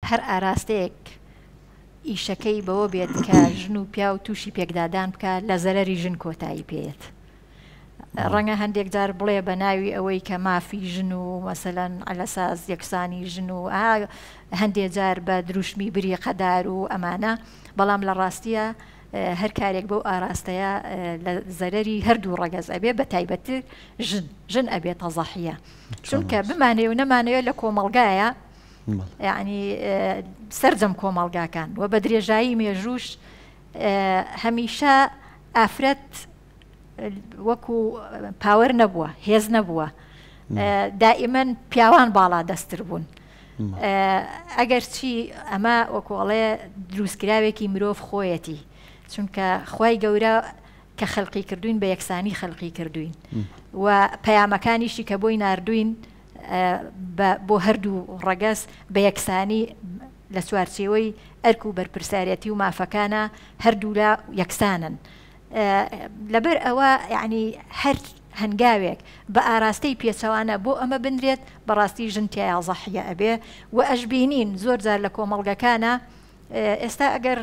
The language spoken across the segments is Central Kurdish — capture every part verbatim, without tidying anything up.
هەر ئاراستەیەک ئیشەکەی بەوە بێت کە ژن و پیاو تووشی پێکدادان بکە لە زەرەری ژن کۆتایی پێیەت. ڕەنگە هەندێک جار بڵێ بە ناوی ئەوەی کە مافی ژن و مەسەلەن عەلەساس یەکسانی ژن و هەندێک جار بە دروشمی بریقەدار و ئەمانە، بەڵام لە ڕاستیە هەر کارێک بەو ئاراستەیە لە زەرەری هەردوو ڕەگەز ئەبێ، بە تایبەتتر ژن ژن ئەبێت تەزەحیە، چونکە بمانەوێ و نەمانەوێت لە کۆمەڵگایە، یعنی سەرجەم کۆمەڵگاکان و بە درێژایی مێژووش هەمیشە ئافرەت وەکو power نەبووە، هێز نەبووە، دائیمەن پیاوان باڵا دەستتر بوون. ئەگەر چی ئەمە وەکوڵێ دروستکراوێکی مرۆڤ خۆیەتی، چونکە خوای گەورە کە خەلقی کردوین بە یەکسانی خەلقی کردوین و پەیامەکانیشی کە بۆی ناردوین بۆ هەردوو ڕەگەز بە یەکسانی لە چوارچێوەی ئەرک و بەرپرسیارەتی و مافەکانە هەردوولا یەکسانن. لەبەر ئەوە یعنی هەر هەنگاوێک بە ئاراستەی پێچەوانە بۆ ئەمە بنرێت بەڕاستی ژن تیایا زەحیە ئەبێ و ئەشبینین زۆر جار لە کۆمەڵگەکانە. ئێستا ئەگەر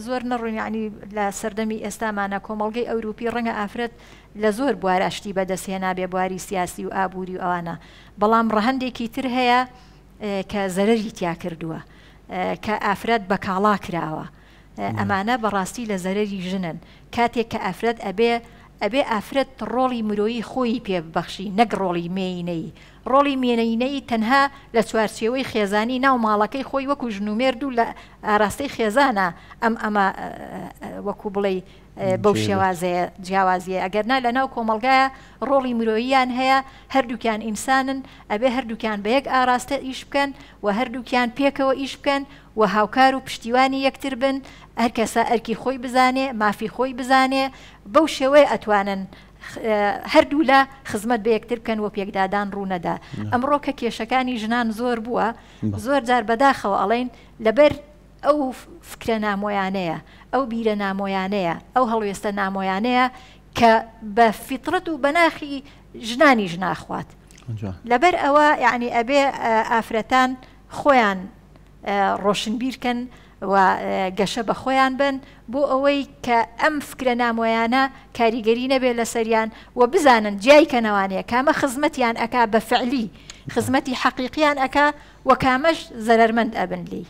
زۆر نەڕوین یعنی لە سەردەمی ئێستامانە کۆمەڵگەی ئەوروپی ڕەنگە ئافرەت لە زۆر بواراشتی بەدەستهێنا بێ، بواری سیاسی و ئابووری و ئەوانە، بەڵام ڕەهەندێکی تر هەیە کە زەرەری تیا کردووە، کە ئافرەت بە کاڵا کراوە. ئەمانە بەڕاستی لە زەرەری ژنن. کاتێک کە ئافرەت ئەبێ ئەبێ ئافرەت ڕۆڵی مرۆیی خۆی پێ ببەخشی نەک ڕۆڵی مێینەی. ڕۆڵی مێینەی تەنها لە چوارچێوەی خێزانی ناو ماڵەکەی خۆی وەکو ژن و مێرد و لە ئاراستەی خێزانە ئەم ئەمە وەکو بڵێ بەو شێوازەیە جیاوازیە. ئەگەر نا لە ناو کۆمەڵگایە ڕۆڵی مرۆییان هەیە، هەردووکیان ئینسانن، ئەبێ هەردووکیان بە یەک ئاراستە ئیش بکەن و هەردووکیان پێکەوە ئیش بکەن و هاوکار و پشتیوانی یەکتر بن، هەر کەسە ئەرکی خۆی بزانێ، مافی خۆی بزانێ، بەو شێوەیە ئەتوانن هەردوو لە خزمەت بە یەکتر بکەن و پێکدادان ڕوونەدا. ئەمڕۆ کە کێشەکانی ژنان زۆر بووە، زۆر جار بەداخەوە ئەڵێن لەبەر ئەو فکرە نامۆیانەیە، ئەو بیرە نامۆیانەیە، ئەو هەڵوێستە نامۆیانەیە کە بە فیترەت و بەناخی ژنانیش ناخوات. لەبەر ئەوە یعنی ئەبێ ئافرەتان خۆیان ڕۆشنبیرکەن و گەشە بە خۆیان بن بۆ ئەوەی کە ئەم فکرە نامۆیانە کاریگەری نەبێت لەسەریان و بزانن جیایکەنەوانەیە کامە خزمەتیان ئەکا بە فعلی، خزمەتی حەقیقیان ئەکا و کامەش زەرەرمەند ئەبن لێی.